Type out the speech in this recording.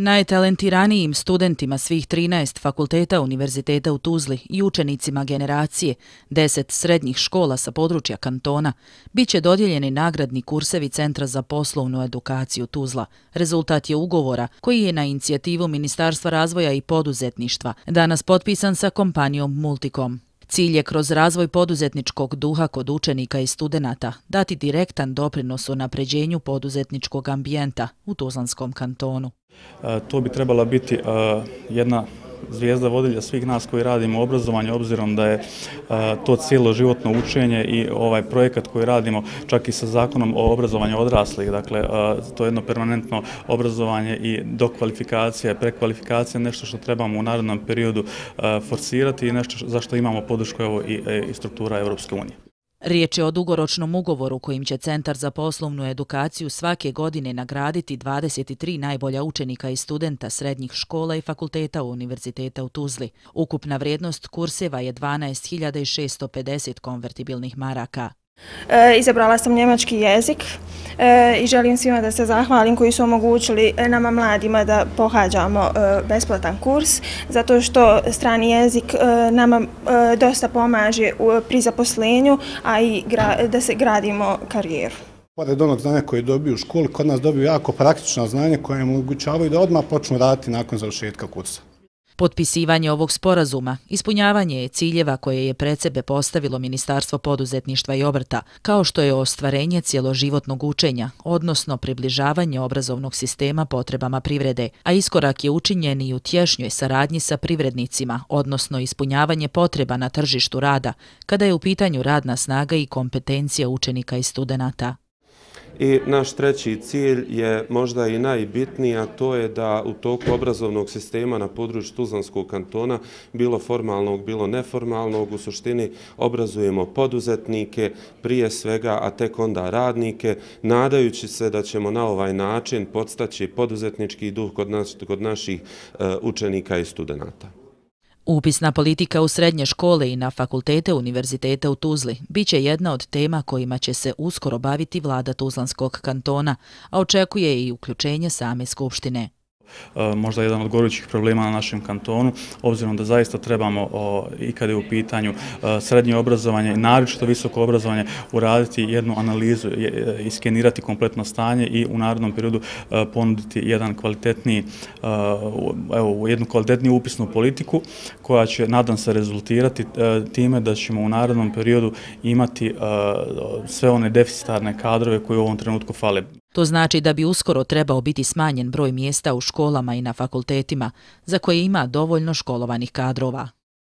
Najtalentiranijim studentima svih 13 fakulteta Univerziteta u Tuzli i učenicima generacije 10 srednjih škola sa područja kantona bit će dodijeljeni nagradni kursevi Centra za poslovnu edukaciju Tuzla. Rezultat je ugovora koji je na inicijativu Ministarstva razvoja i poduzetništva danas potpisan sa kompanijom Multicom. Cilj je kroz razvoj poduzetničkog duha kod učenika i studenata dati direktan doprinos unapređenju poduzetničkog ambijenta u Tuzlanskom kantonu. To bi trebala biti jedna zvijezda vodilja svih nas koji radimo u obrazovanju, obzirom da je to cjeloživotno učenje i ovaj projekat koji radimo čak i sa Zakonom o obrazovanju odraslih. Dakle, to je jedno permanentno obrazovanje i dokvalifikacija, prekvalifikacija, nešto što trebamo u narednom periodu forsirati i nešto za što imamo podršku i struktura Europske unije. Riječ je o dugoročnom ugovoru kojim će Centar za poslovnu edukaciju svake godine nagraditi 23 najbolja učenika i studenta srednjih škola i fakulteta Univerziteta u Tuzli. Ukupna vrijednost kurseva je 12.650 konvertibilnih maraka. Izabrala sam njemački jezik i želim svima da se zahvalim koji su omogućili nama mladima da pohađamo besplatan kurs, zato što strani jezik nama dosta pomaže pri zaposlenju, a i da se gradimo karijeru. Pored onog znanja koje dobiju u školi, kod nas dobiju jako praktično znanje koje im omogućavaju da odmah počnu raditi nakon završetka kursa. Potpisivanje ovog sporazuma ispunjavanje je ciljeva koje je pred sebe postavilo Ministarstvo poduzetništva i obrta, kao što je ostvarenje cjeloživotnog učenja, odnosno približavanje obrazovnog sistema potrebama privrede, a iskorak je učinjen i u tješnjoj saradnji sa privrednicima, odnosno ispunjavanje potreba na tržištu rada, kada je u pitanju radna snaga i kompetencija učenika i studenata. I naš treći cilj je možda i najbitniji, a to je da u toku obrazovnog sistema na području Tuzlanskog kantona, bilo formalnog, bilo neformalnog, u suštini obrazujemo poduzetnike, prije svega, a tek onda radnike, nadajući se da ćemo na ovaj način podstaći poduzetnički duh kod naših učenika i studenata. Upisna politika u srednje škole i na fakultete Univerziteta u Tuzli bit će jedna od tema kojima će se uskoro baviti vlada Tuzlanskog kantona, a očekuje i uključenje same skupštine. Možda jedan od gorućih problema na našem kantonu, obzirom da zaista trebamo i kada je u pitanju srednje obrazovanje i naročito visoko obrazovanje uraditi jednu analizu, iskenirati kompletno stanje i u narednom periodu ponuditi jednu kvalitetniju upisnu politiku koja će, nadam se, rezultirati time da ćemo u narednom periodu imati sve one deficitarne kadrove koje u ovom trenutku fale. To znači da bi uskoro trebao biti smanjen broj mjesta u školama i na fakultetima za koje ima dovoljno školovanih kadrova.